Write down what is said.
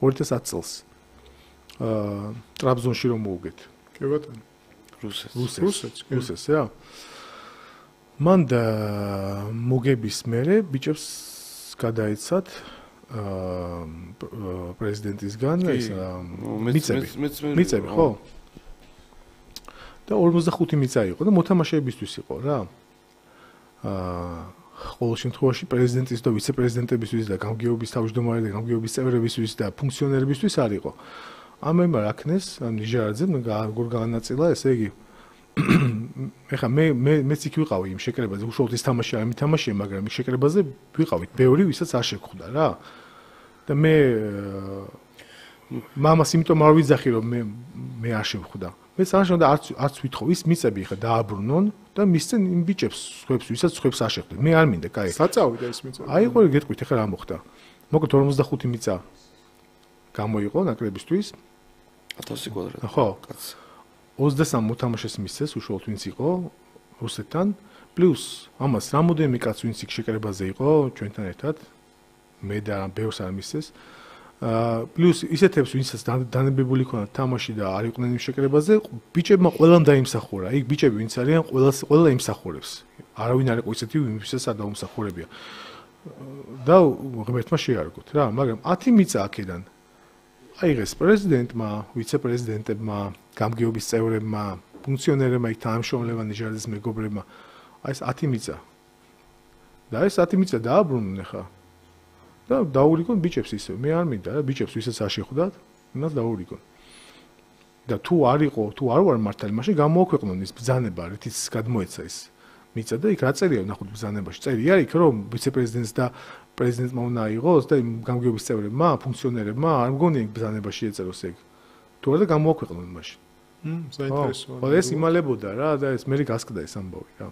2010 წელს ტრაბზონში რომ მოუგეთ. კი ბატონო. რუსეთს, რა. მან მოგების მერე ბიჭებს გადაეცათ პრეზიდენტისგან ეს მიწები, ხო? და 45 მიწა იყო და მოთამაშეებისთვის იყო რა. ყოველ შემთხვევაში პრეზიდენტის და ვიცე-პრეზიდენტებისთვის და გამგეობის თავმჯდომარე და გამგეობის წევრებისთვის და ფუნქციონერებისთვის არ იყო. ამერმა რაქნეს ნიჟარაძემ როგორ განაწილა, ესე იგი ეხა მეც იქ ვიყავი იმ შეკრებაზე, უშუალოდ ის თამაში არ მითამაშია, მაგრამ იმ შეკრებაზე ვიყავით ბევრი, ვისაც არ შეხვდა რა. და მე მამას იმიტომ არ ვიძახი, რომ მე არ შევხვდა. მეც არაშევდა არც ვითხოვ, ის მიწები ხა დააბრუნონ და მისცენ იმ ბიჭებს, ვისაც სხვებს არ შეხვდეთ. მე არ მინდა, კაი. საწავიდა ის მიწები. აი, ყოლი გეტყვით, ეხლა რა მოხდა. მოკლედ 45 მიწა გამოიყო ნაკრებისთვის 1000 კვადრატი. ხო, კაც. 23 მოთამაშეს მისცეს, უშუალოდ ვინც იყო რუსეთთან, პლუს ამას რამოდენიმე კაც ვინც იქ შეკრებაზე იყო ჩვენთან ერთად. მე და ბევრს არ მისცეს. პლუს ისეთებს ვინცაც დანებებული ქონათ თამაში და არ იყვნენ იმ შეკრებაზე, ბიჭებმა ყველამ დაიმსახურა. იქ ბიჭები ვინც არიან, ყველა იმსახურებს. არავინ არ იყო ისეთი, ვინცაც არ დაუმსახურებია. და ღმერთმა შეარგოთ რა, მაგრამ 10 მიწა აქედან აიღეს პრეზიდენტმა, ვიცე-პრეზიდენტებმა, გამგეობის წევრებმა, ფუნქციონერებმა, იქ თანამშრომლებმა, ნიჟარაძის მეგობრებმა. აი ეს 10 მიწა. და ეს 10 მიწა დააბრუნონ ახლა. და დაურიგონ ბიჭებს ისე. მე არ მინდა რა, ბიჭებს ვისაც არ შეხვდათ, იმას დაურიგონ. და თუ არ ვარ მართალი, მაშინ გამოაქვეყნონ ის ბრძანება, რითიც გადმოეცა ის მიწა და იქ რა წერია ნახოთ ბრძანებაში. წერია იქ რომ ვიცე-პრეზიდენტს და პრეზიდენტმა უნდა აიღოს და იმ გამგეობის წევრებმა, ფუნქციონერებმა არ მგონია იქ ბრძანებაში ეწეროს ეგ. თუ არა გამოაქვეყნონ მაშინ. საინტერესოა. ხო, ეს იმალებოდა რა და ეს მე გასკდა ეს ამბავი რა.